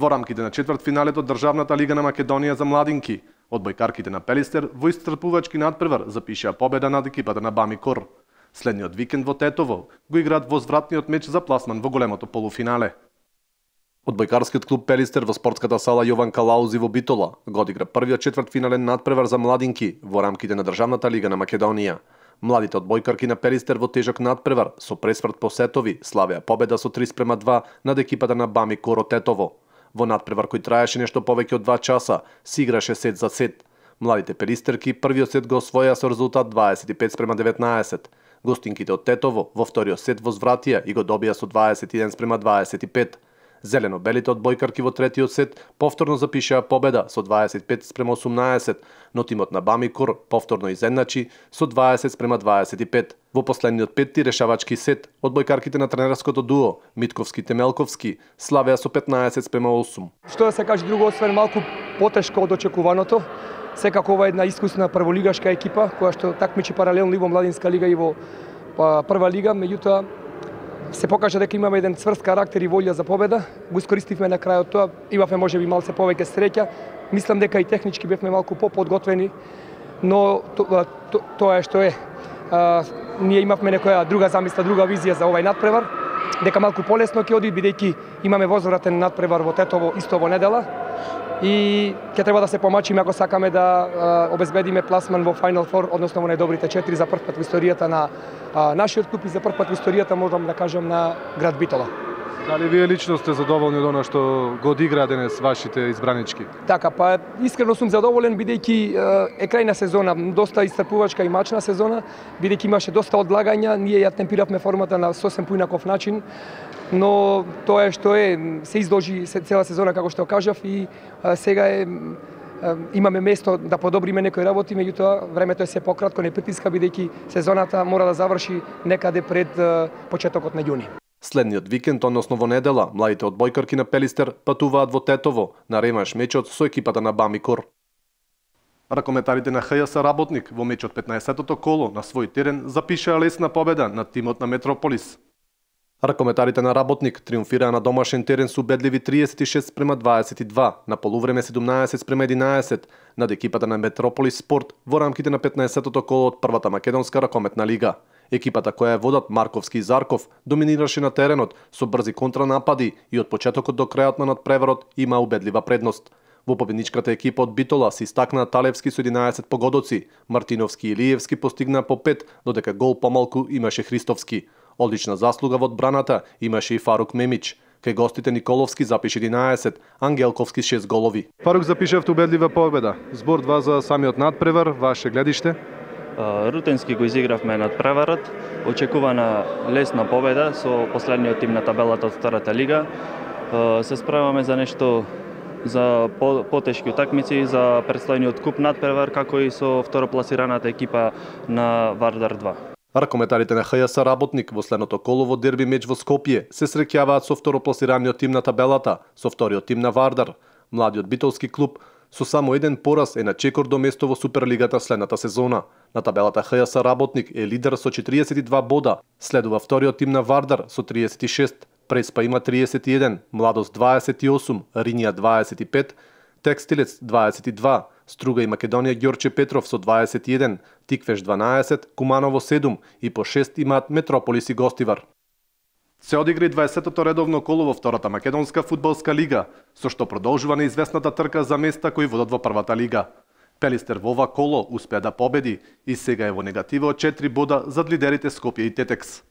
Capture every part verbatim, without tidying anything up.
Во рамките на четвртфиналето Државната лига на Македонија за младинки, одбојкарките на Пелистер во исцрпувачки надпревар запишаа победа над екипата на Бамикор. Следниот викенд во Тетово го играат возвратниот меч за пласман во големото полуфинале. Одбојкарскиот клуб Пелистер во спортската сала Јован Калаузи во Битола го одигра првиот четвртфинален надпревар за младинки во рамките на Државната лига на Македонија. Младите одбојкарки на Пелистер во тежок надпревар со пресврт по сетови славеа победа со три спрема два над екипата на Бамикор од Тетово. Во надпревар кој траеше нешто повеќе од два часа, се играше сет за сет. Младите пелистерки првиот сет го освоија со резултат дваесет и пет спрема деветнаесет. Гостинките од Тетово во вториот сет возвратија и го добија со дваесет и еден спрема дваесет и пет. Зелено-белите одбојкарки во третиот сет повторно запишаа победа со дваесет и пет спрема осумнаесет, но тимот на Бамикор повторно изедначи со дваесет спрема дваесет и пет. Во последниот петти решавачки сет, одбојкарките на тренерското дуо Митковски-Темелковски славеа со петнаесет спрема осум. Што да се каже друго, освен малку потешко од очекуваното, секако ова е една искусна прволигашка екипа која што такмичи паралелно и во младинска лига и во прва лига, меѓутоа се покажа дека имаме еден цврст карактер и волја за победа. Го искористивме на крајот тоа, имавме можеби малце повеќе среќа. Мислам дека и технички бевме малку поподготвени, но тоа то, то е што е. А, ние имавме некоја друга замисла, друга визија за овај надпревар, дека малку полесно ќе оди бидејќи имаме возвратен надпревар во Тетово исто во недела. И ќе треба да се помачиме ако сакаме да а, обезбедиме пласман во Final Four, односно во најдобрите четири за прв пат во историјата на а, нашиот клуб и за прв пат во историјата, можам да кажам, на град Битола. Дали вие лично сте задоволни од она што го одиграа денес вашите избранички? Така, па искрено сум задоволен бидејќи е крајна сезона, доста исцрпувачка и мачна сезона, бидејќи имаше доста одлагања, ние ја темпиравме формата на сосем поинаков начин, но тоа е што е, се изложи цела сезона како што кажав и а, сега е имаме место да подобриме некои работи, меѓутоа времето е се пократко, не притиска бидејќи сезоната мора да заврши некаде пред а, почетокот на јуни. Следниот викенд, односно во недела, младите одбојкарки на Пелистер патуваат во Тетово на реманш мечот со екипата на Бамикор. Ракометарите на ХЈС Работник во мечот петнаесеттото коло на свој терен запишаа лесна победа над тимот на Метрополис. Ракометарите на Работник триумфираа на домашен терен со убедливи триесет и шест спрема дваесет и два, на полувреме седумнаесет спрема единаесет над екипата на Метрополис Спорт во рамките на петнаесеттото коло од првата македонска ракометна лига. Екипата која е водат Марковски и Зарков доминираше на теренот со брзи контранапади и од почетокот до крајот на надпреварот има убедлива предност. Во победничката екипа од Битола се истакнаа Талевски со единаесет погодоци, Мартиновски и Илиевски постигнаа по пет, додека гол помалку имаше Христовски. Одлична заслуга во одбраната имаше и Фарук Мемич. Кај гостите Николовски запише единаесет, Ангелковски шест голови. Фарук запишав убедлива победа. Збор два за самиот надпревар, ваше гледиште? Рутенски го изигравме надпреварот, очекувана лесна победа со последниот тим на табелата од втората лига. Се справаме за нешто за потешки утакмици, за предстојниот куп надпревар, како и со второпласираната екипа на Вардар два. Ракометарите на ХЈС Работник во следното коло во дерби меч во Скопје се среќаваат со второпласираниот тим на табелата, со вториот тим на Вардар. Младиот битолски клуб со само еден пораз е на чекор до место во Суперлигата следната сезона. На табелата ХЈС Работник е лидер со четириесет и два бода, следува вториот тим на Вардар со триесет и шест, Преспа има триесет и еден, Младост дваесет и осум, Ринија дваесет и пет, Текстилец дваесет и два, Струга и Македонија Ѓорче Петров со дваесет и еден, Тиквеш дванаесет, Куманово седум и по шест имаат Метрополис и Гостивар. Се одигра и дваесеттото редовно коло во втората македонска фудбалска лига, со што продолжува неизвестната трка за места кои водат во првата лига. Пелистер во ова коло успеа да победи и сега е во негатива од четири бода зад лидерите Скопје и Тетекс.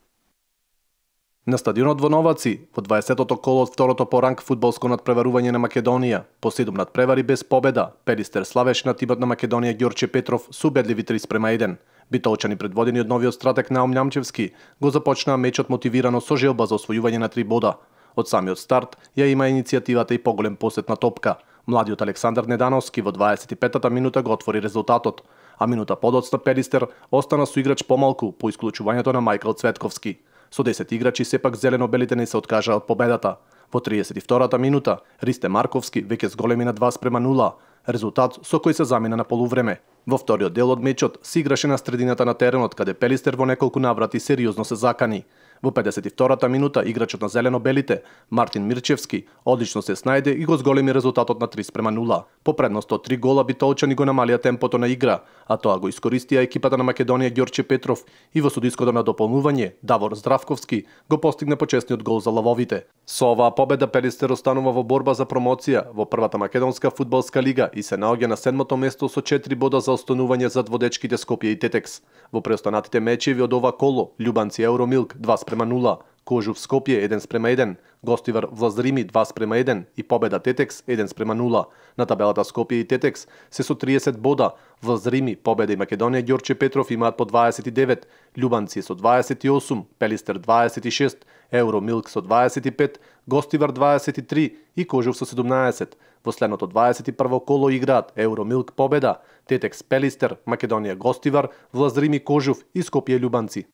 На стадионот во Новаци, во дваесеттото коло од второто по ранг фудбалско надпреварување на Македонија, по седум надпревари без победа, Пелистер славеше на тимот на Македонија Ѓорче Петров со убедливи три спрема еден. Битолчани предводени од новиот стратег Наум Њамчевски го започнаа мечот мотивирано со желба за освојување на три бода. Од самиот старт ја има иницијативата и поголем посет на топка. Младиот Александар Недановски во дваесет и петата минута го отвори резултатот, а минута подоцна Пелистер остана со играч помалку по исклучувањето на Мајкл Цветковски. Со десет играчи сепак зелено-белите не се откажаа од победата. Во триесет и втората минута Ристе Марковски веќе зголеми на два спрема нула, резултат со кој се замина на полувреме. Во вториот дел од мечот се играше на средината на теренот, каде Пелистер во неколку наврати сериозно се закани. Во педесет и втората минута играчот на зелено-белите, Мартин Мирчевски, одлично се снајде и го зголеми резултатот на три спрема нула. По предност од три гола битолчани го намалија темпото на игра, а тоа го искористија екипата на Македонија Ѓорче Петров и во судиското на дополнување Давор Здравковски го постигне почесниот гол за лавовите. Со оваа победа Пелистер останува во борба за промоција во првата македонска фудбалска лига и се наоѓа на седмото место со четири бода за останување зад водечките Скопје и Тетекс. Во преостанатите мечеви од ова коло, Љубанци Евромилк два спрема нула, Кожув Скопје еден спрема еден, Гостивар Влазрими два спрема еден и победа Тетекс еден спрема нула. На табелата Скопје и Тетекс се со триесет бода, Влазрими, Победа и Македонија Ѓорче Петров имаат по дваесет и девет, Љубанци со дваесет и осум, Пелистер дваесет и шест, Евромилк со дваесет и пет, Гостивар дваесет и три и Кожув со седумнаесет. Во следното дваесет и прво коло играат Евромилк Победа, Тетекс Пелистер, Македонија Гостивар, Влазрими Кожув и Скопје Љубанци.